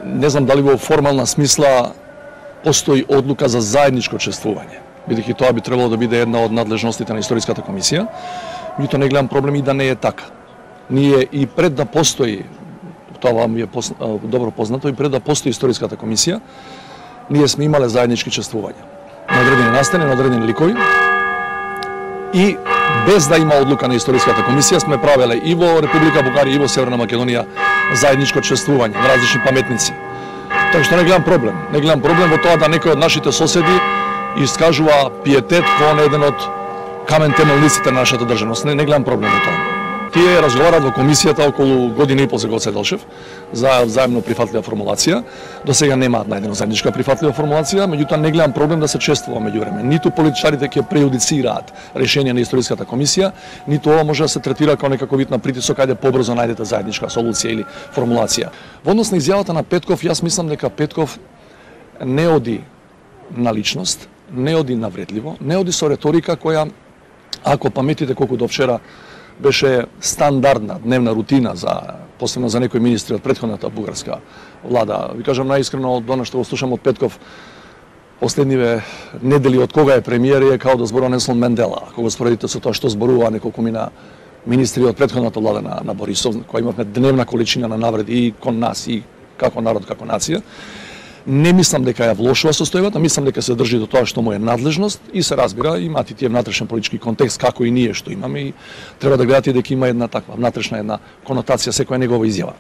Не знам дали во формална смисла постои одлука за заедничко чествување, бидејќи тоа би требало да биде една од надлежностите на Историската комисија. Меѓутоа не гледам проблем и да не е така. Ние и пред да постои, тоа вам е добро познато, и пред да постои Историската комисија, ние сме имале заеднички чествувања на одредени настани, на одредени ликови, и без да има одлука на Историската комисија сме правеле и во Република Бугарија и во Северна Македонија заедничко чествување на различни паметници. Така што не гледам проблем. Не гледам проблем во тоа да некој од нашите соседи искажува пиетет кон еден од камен темелниците на нашата државност. Не гледам проблем во тоа. Тие разговарат во комисијата околу година и пол за Гоце Делчев за заемно прифатлива формулација. До сега немаат најдена заедничка прифатлива формулација, меѓутоа не гледам проблем да се чествува меѓувреме. Ниту политичарите ќе прејудицираат решение на Историската комисија, ниту ова може да се третира како некако вид на притисок, ајде побрзо најдете заедничка солуција или формулација. Во однос на изјавата на Петков, јас мислам дека Петков не оди на личност, не оди навредливо, не оди со реторика која, ако паметите колку до вчера беше стандардна дневна рутина посебно за некои министри од претходната бугарска влада. Ви кажам најискрено, од она што го слушам од Петков последниве недели од кога е премиер, е као да зборува Нелсон Мендела. Ако го споредите со тоа што зборува неколку мина министри од претходната влада на Борисов, која имавме дневна количина на навреди и кон нас и како народ, како нација. Не мислам дека ја влошува состојбата, мислам дека се држи до тоа што му е надлежност и се разбира, имаат и тие внатрешен политички контекст како и ние што имаме, и треба да гледате дека има една таква внатрешна една конотација секоја негова изјава.